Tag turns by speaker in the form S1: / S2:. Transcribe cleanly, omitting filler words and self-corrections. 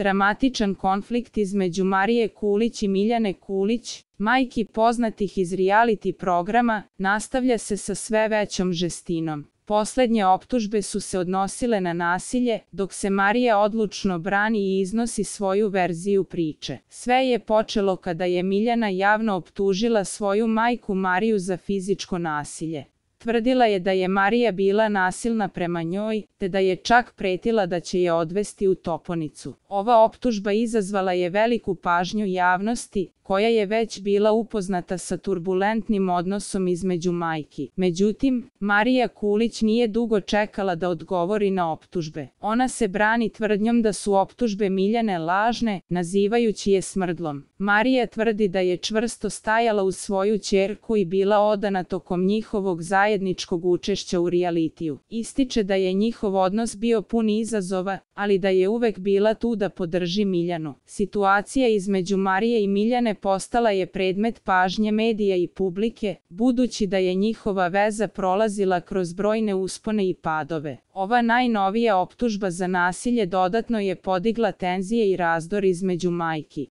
S1: Dramatičan konflikt između Marije Kulić i Miljane Kulić, majki poznatih iz reality programa, nastavlja se sa sve većom žestinom. Poslednje optužbe su se odnosile na nasilje, dok se Marija odlučno brani i iznosi svoju verziju priče. Sve je počelo kada je Miljana javno optužila svoju majku Mariju za fizičko nasilje. Tvrdila je da je Marija bila nasilna prema njoj, te da je čak pretila da će je odvesti u toponicu. Ova optužba izazvala je veliku pažnju javnosti, koja je već bila upoznata sa turbulentnim odnosom između majki. Međutim, Marija Kulić nije dugo čekala da odgovori na optužbe. Ona se brani tvrdnjom da su optužbe Miljane lažne, nazivajući je smrdlom. Marija tvrdi da je čvrsto stajala uz svoju ćerku i bila odana tokom njihovog zajedničkog učešća u realitiju. Ističe da je njihov odnos bio pun izazova, ali da je uvek bila tu da podrži Miljanu. Situacija između Marije i Miljane postala je predmet pažnje medija i publike, budući da je njihova veza prolazila kroz brojne uspone i padove. Ova najnovija optužba za nasilje dodatno je podigla tenzije i razdor između majki.